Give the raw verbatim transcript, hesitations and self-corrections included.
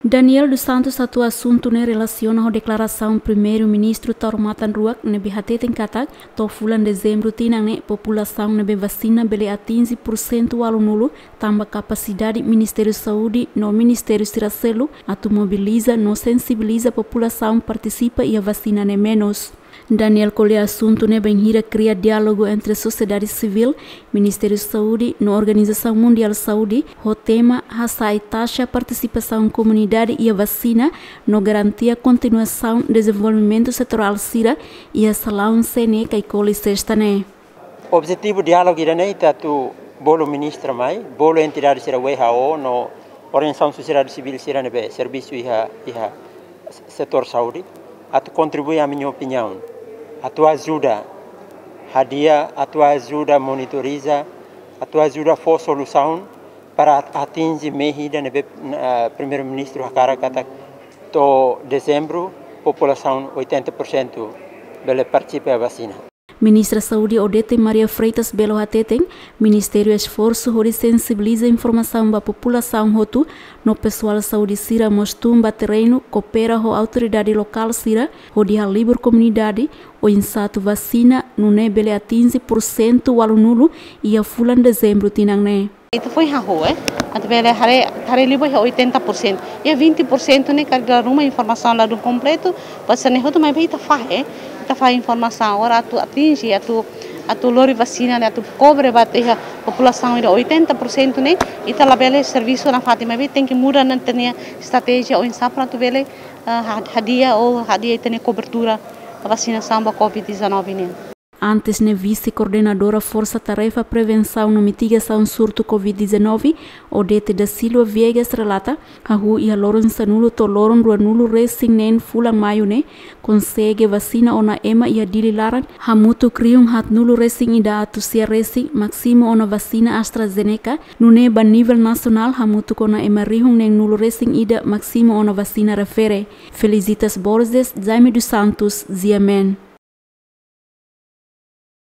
Daniel dos Santos hato'o asuntu ne'e relasiona ho deklarasaun Primeiru-Ministru Taur Matan Ruak ne'ebé hateten katak to'o fulan Dezembru tinan ne'e populasaun ne'ebé vasina bele atinje pursentu ualunulu, tanba kapasidade Ministériu Saúde no ministériu sira seluk atu mobiliza no sensibiliza populasaun partisipa iha vasina ne'e menus. Daniel ko'alia asuntu ne'e bainhira kria diálogu entre sosiedade sivíl, Ministériu Saúde no Organizasaun Mundiál Saúde, ho tema hasa'e taxa partisipasaun komunidade iha vasina no garantia kontinuasaun dezenvolvimentu setorál sira iha salaun C N E Caicoli sesta ne'e. Objetivu diálogu ida-ne'e ita atu bolu ministra mai, bolu entidade sira W H O no organizasaun sosiedade sivíl sira ne'ebé servisu iha, iha setór saúde, atu kontribui ami-nia opiniaun, atu ajuda hadi'a, atu ajuda monitoriza, atu ajuda fó solusaun para at-, atinje mehi ida ne'ebé, eh, Primeiru-Ministru hakarak katak to'o Dezembru populasaun oitenta por cento bele partisipa iha vasina. Ministra Saúde Odete Maria Freitas Belo hateten, ministériu esforsu hodi sensibiliza informasaun ba populasaun hotu, no pesoál saúde sira mós tun ba terrenu, koopera ho autoridade lokál sira, hodi halibur komunidade oinsá atu vasina, nune'e bele atinje pursentu ualunulu iha fulan Dezembru tinan ne'e. Ita foin hahú, eh. Atu bele haree, haree liu ba iha oitenta por cento. Iha vinte por cento ne'e karik dala ruma informasaun ladún kompletu, ba sira-ne'e hotu maibé ita fahe, eh. Ita fahe informasaun agora atu atinje, atu, atu lori vasina ne'e, atu kobre ba iha populasaun ida oitenta por cento ne'e, ita labele servisu nafatin maibé tenke muda ita-nia estratéjia oinsá para atu bele, ah, ha-, hadi'a ou hadi'a ita-nia kobertura vasinasaun ba covid dezanove nian. Antes ne'e, Vise-Koordenadora Forsa Tarefa Prevensaun no Mitigasaun Surtu covid dezanove, Odete da Silva Viegas relata, hahú iha loron sanulu to'o loron ruanulu resin neen fulan Maiu ne'e, konsege vasina ona ema iha Dili laran, hamutuk rihun haatnulu resin ida atus sia resin, másimu ona vasina AstraZeneca, nune'e ba nivel nasionál hamutuk ona ema rihun neenulu resin ida, másimu ona vasina refere. Felicitas Borges, Jaime dos Santos, G M N.